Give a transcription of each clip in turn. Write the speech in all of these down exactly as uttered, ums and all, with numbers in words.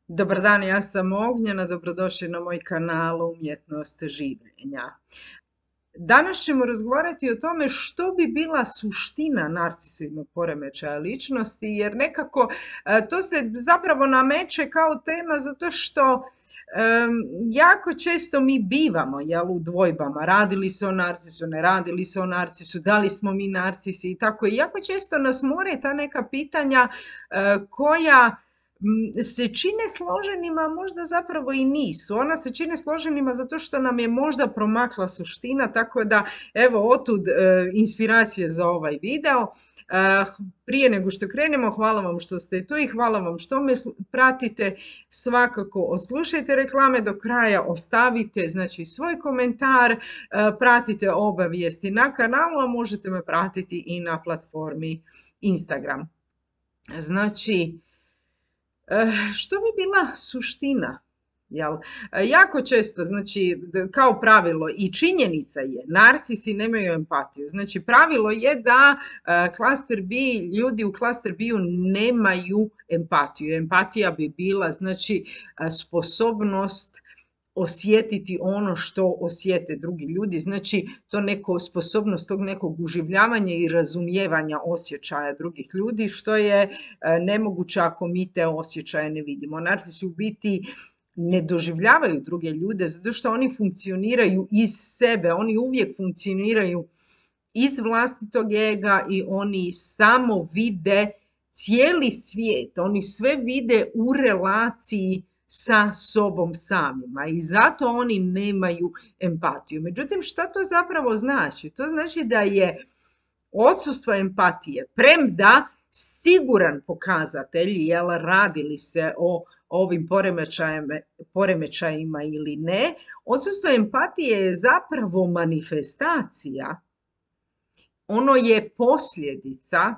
Dobar dan, ja sam Ognjena, dobrodošli na moj kanal Umjetnost življenja. Danas ćemo razgovarati o tome što bi bila suština narcisoidnog poremećaja ličnosti, jer nekako e, to se zapravo nameće kao tema zato što em, jako često mi bivamo jel, u dvojbama, radili se o narcisu, ne radili se o narcisu, da li smo mi narcisi i tako. I jako često nas more ta neka pitanja e, koja se čine složenima, možda zapravo i nisu. Ona se čine složenima zato što nam je možda promakla suština, tako da evo otud e, inspiracije za ovaj video. E, prije nego što krenemo, hvala vam što ste tu i hvala vam što me pratite. Svakako odslušajte reklame do kraja, ostavite znači svoj komentar, e, pratite obavijesti na kanalu, a možete me pratiti i na platformi Instagram. Znači, što bi bila suština? Jel? Jako često, znači, kao pravilo i činjenica je, narcisi nemaju empatiju. Znači, pravilo je da klaster B, ljudi u klaster B-u nemaju empatiju. Empatija bi bila, znači, sposobnost osjetiti ono što osjete drugi ljudi, znači to neko sposobnost tog nekog uživljavanja i razumijevanja osjećaja drugih ljudi, što je nemoguće ako mi te osjećaje ne vidimo. Narcisi u biti ne doživljavaju druge ljude zato što oni funkcioniraju iz sebe, oni uvijek funkcioniraju iz vlastitog ega i oni samo vide cijeli svijet, oni sve vide u relaciji sa sobom samima i zato oni nemaju empatiju. Međutim, šta to zapravo znači? To znači da je odsustvo empatije, premda siguran pokazatelj, jel radili se o ovim poremećajima, poremećajima ili ne, odsustvo empatije je zapravo manifestacija, ono je posljedica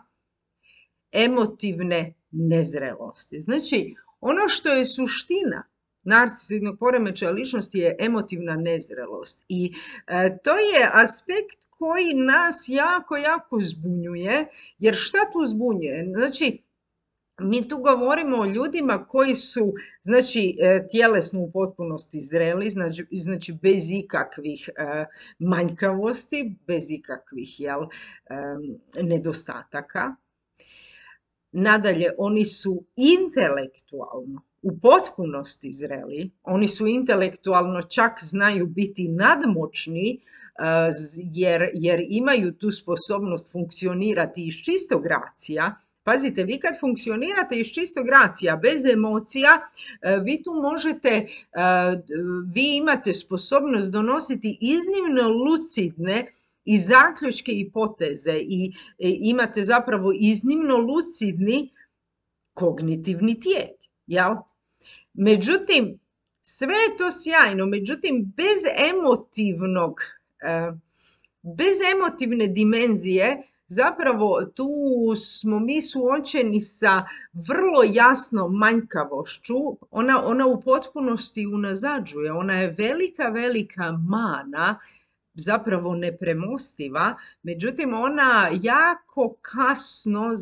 emotivne nezrelosti. Znači, ono što je suština narcisoidnog poremećaja ličnosti je emotivna nezrelost i e, to je aspekt koji nas jako, jako zbunjuje, jer šta tu zbunjuje? Znači, mi tu govorimo o ljudima koji su, znači, tjelesno u potpunosti zreli, znači, znači bez ikakvih e, manjkavosti, bez ikakvih jel, e, nedostataka. Nadalje, oni su intelektualno u potpunosti zreli, oni su intelektualno čak znaju biti nadmoćni jer, jer imaju tu sposobnost funkcionirati iz čistog racija. Pazite, vi kad funkcionirate iz čistog racija, bez emocija, vi tu možete, vi imate sposobnost donositi iznimno lucidne i zaključke i poteze i imate zapravo iznimno lucidni kognitivni tijek, jel? Međutim, sve je to sjajno, međutim, bez emotivnog, bez emotivne dimenzije, zapravo tu smo mi suočeni sa vrlo jasnom manjkavošću, ona, ona u potpunosti unazađuje, ona je velika, velika mana, zapravo nepremostiva, međutim ona jako kasno,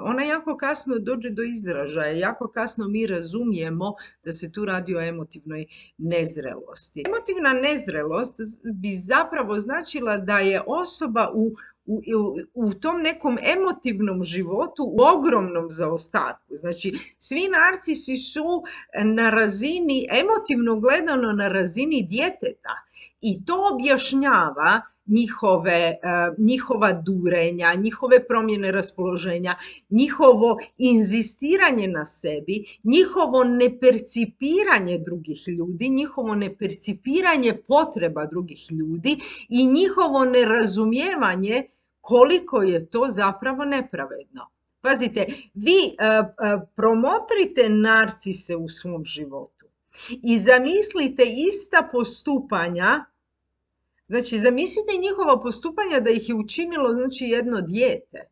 ona jako kasno dođe do izražaja, jako kasno mi razumijemo da se tu radi o emotivnoj nezrelosti. Emotivna nezrelost bi zapravo značila da je osoba u U, u, u tom nekom emotivnom životu u ogromnom zaostatku. Znači, svi narcisi su na razini, emotivno gledano na razini djeteta i to objašnjava njihove, njihova durenja, njihove promjene raspoloženja, njihovo inzistiranje na sebi, njihovo nepercipiranje drugih ljudi, njihovo nepercipiranje potreba drugih ljudi i njihovo nerazumijevanje koliko je to zapravo nepravedno. Pazite, vi uh, uh, promotrite narcise u svom životu i zamislite ista postupanja, znači zamislite njihova postupanja da ih je učinilo znači jedno dijete.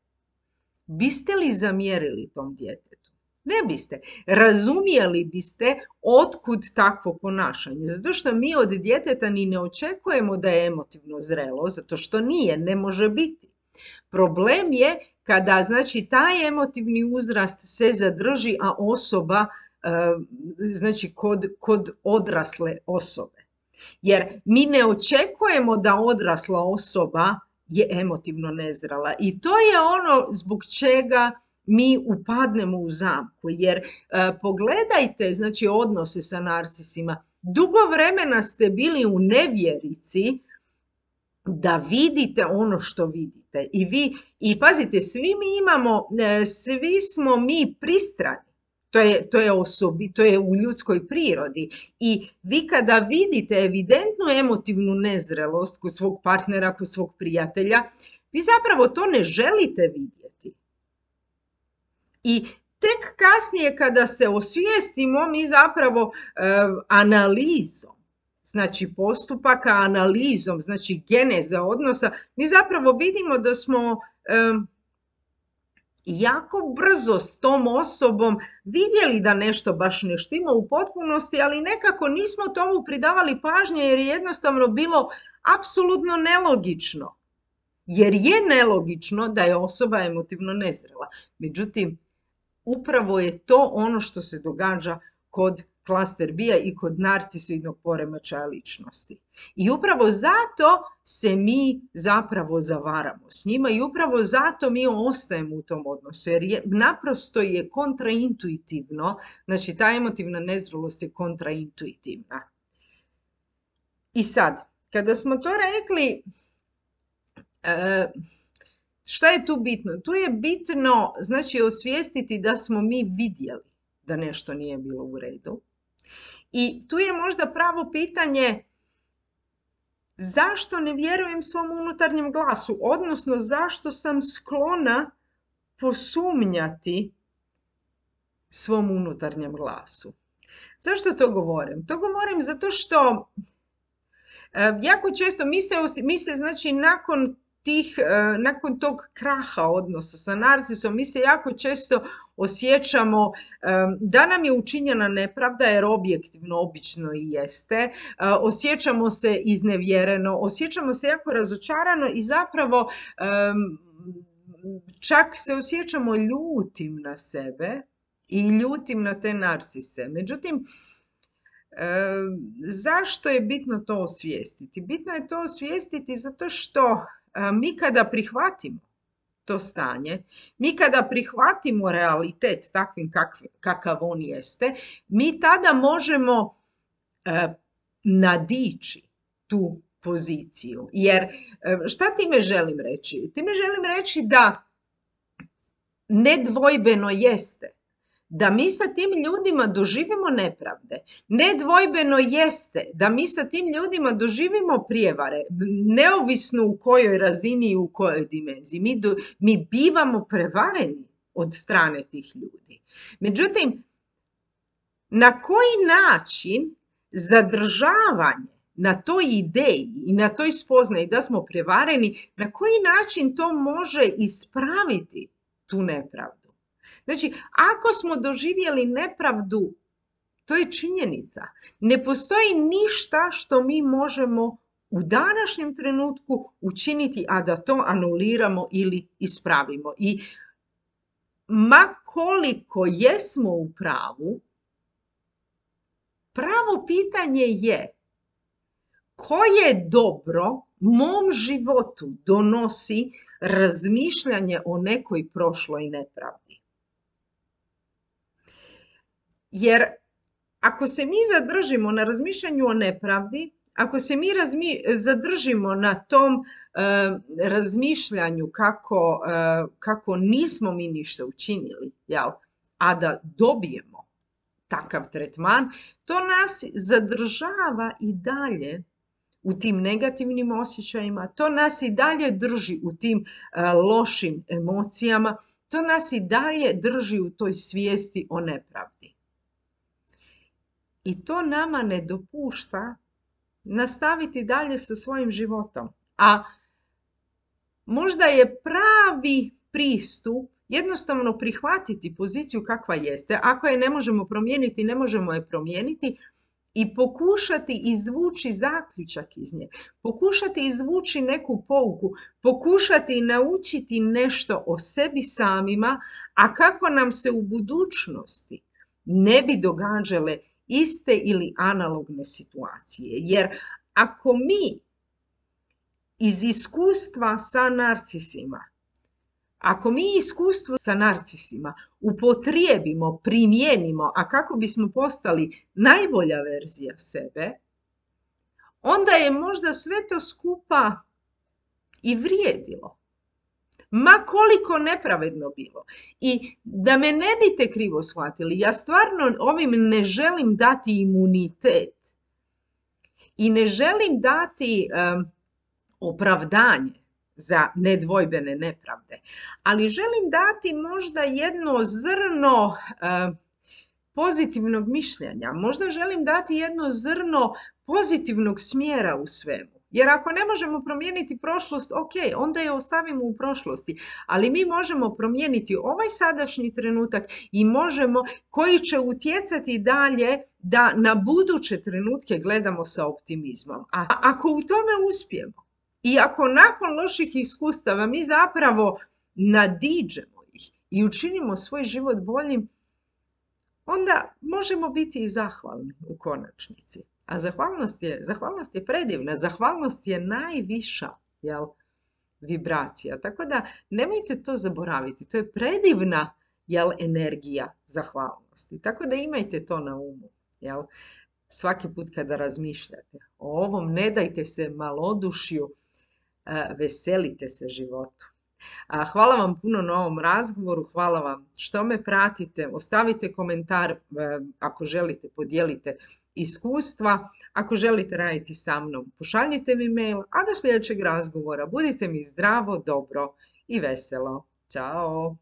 Biste li zamjerili tom djetetu? Ne biste. Razumjeli biste otkud takvo ponašanje. Zato što mi od djeteta ni ne očekujemo da je emotivno zrelo, zato što nije, ne može biti. Problem je kada znači taj emotivni uzrast se zadrži, a osoba znači kod, kod odrasle osobe. Jer mi ne očekujemo da odrasla osoba je emotivno nezrela. I to je ono zbog čega mi upadnemo u zamku. Jer e, pogledajte, znači, odnose sa narcisima. Dugo vremena ste bili u nevjerici da vidite ono što vidite. I vi, i pazite, svi mi imamo, e, svi smo mi pristrani. To je, to je osobi, to je u ljudskoj prirodi. I vi kada vidite evidentnu emotivnu nezrelost kod svog partnera, kod svog prijatelja, vi zapravo to ne želite vidjeti. I tek kasnije kada se osvijestimo, mi zapravo e, analizom, znači postupaka, analizom, znači geneza odnosa, mi zapravo vidimo da smo e, jako brzo s tom osobom vidjeli da nešto baš ne štima u potpunosti, ali nekako nismo tomu pridavali pažnje jer je jednostavno bilo apsolutno nelogično. Jer je nelogično da je osoba emotivno nezrela. Međutim, upravo je to ono što se događa kod klaster B-a i kod narcisoidnog poremećaja ličnosti. I upravo zato se mi zapravo zavaramo s njima i upravo zato mi ostajemo u tom odnosu, jer je, naprosto je kontraintuitivno, znači ta emotivna nezrelost je kontraintuitivna. I sad, kada smo to rekli, e, šta je tu bitno? Tu je bitno, znači, osvijestiti da smo mi vidjeli da nešto nije bilo u redu. I tu je možda pravo pitanje zašto ne vjerujem svom unutarnjem glasu, odnosno zašto sam sklona posumnjati svom unutarnjem glasu. Zašto to govorim? To govorim zato što e, jako često mi se, mi se znači nakon tih, e, nakon tog kraha odnosa sa narcisom, mi se jako često osjećamo e, da nam je učinjena nepravda, jer objektivno obično i jeste, e, osjećamo se iznevjereno, osjećamo se jako razočarano i zapravo e, čak se osjećamo ljutim na sebe i ljutim na te narcise. Međutim, e, zašto je bitno to osvijestiti? Bitno je to osvijestiti zato što mi kada prihvatimo to stanje, mi kada prihvatimo realitet takvim kakav, kakav on jeste, mi tada možemo e, nadići tu poziciju. Jer šta time želim reći? Time želim reći da nedvojbeno jeste da mi sa tim ljudima doživimo nepravde. Nedvojbeno jeste da mi sa tim ljudima doživimo prijevare, neovisno u kojoj razini i u kojoj dimenziji. Mi, do, mi bivamo prevareni od strane tih ljudi. Međutim, na koji način zadržavanje na toj ideji i na toj spoznaji da smo prevareni, na koji način to može ispraviti tu nepravdu? Znači, ako smo doživjeli nepravdu, to je činjenica. Ne postoji ništa što mi možemo u današnjem trenutku učiniti, a da to anuliramo ili ispravimo. I ma koliko jesmo u pravu, pravo pitanje je koje dobro mom životu donosi razmišljanje o nekoj prošloj nepravdi. Jer ako se mi zadržimo na razmišljanju o nepravdi, ako se mi razmi, zadržimo na tom uh, razmišljanju kako, uh, kako nismo mi ništa učinili, jel? A da dobijemo takav tretman, to nas zadržava i dalje u tim negativnim osjećajima, to nas i dalje drži u tim uh, lošim emocijama, to nas i dalje drži u toj svijesti o nepravdi. I to nama ne dopušta nastaviti dalje sa svojim životom. A možda je pravi pristup jednostavno prihvatiti poziciju kakva jeste. Ako je ne možemo promijeniti, ne možemo je promijeniti i pokušati izvući zaključak iz nje. Pokušati izvući neku pouku. Pokušati naučiti nešto o sebi samima, a kako nam se u budućnosti ne bi događale iste ili analogne situacije. Jer ako mi iz iskustva sa narcisima, ako mi iskustvo sa narcisima upotrijebimo, primijenimo, a kako bismo postali najbolja verzija sebe, onda je možda sve to skupa i vrijedilo. Ma koliko nepravedno bilo. I da me ne biste krivo shvatili, ja stvarno ovim ne želim dati imunitet i ne želim dati um, opravdanje za nedvojbene nepravde, ali želim dati možda jedno zrno uh, pozitivnog mišljenja, možda želim dati jedno zrno pozitivnog smjera u svemu. Jer ako ne možemo promijeniti prošlost, ok, onda je ostavimo u prošlosti, ali mi možemo promijeniti ovaj sadašnji trenutak i možemo, koji će utjecati dalje da na buduće trenutke gledamo sa optimizmom. A ako u tome uspijemo i ako nakon loših iskustava mi zapravo nadiđemo ih i učinimo svoj život boljim, onda možemo biti i zahvalni u konačnici. A zahvalnost je, zahvalnost je predivna, zahvalnost je najviša, jel, vibracija. Tako da nemojte to zaboraviti, to je predivna, jel, energija zahvalnosti. Tako da imajte to na umu, jel, svaki put kada razmišljate o ovom, ne dajte se malodušju, veselite se životu. Hvala vam puno na ovom razgovoru, hvala vam što me pratite, ostavite komentar ako želite, podijelite iskustva, ako želite raditi sa mnom, pošaljite mi mail, a do sljedećeg razgovora budite mi zdravo, dobro i veselo. Ćao!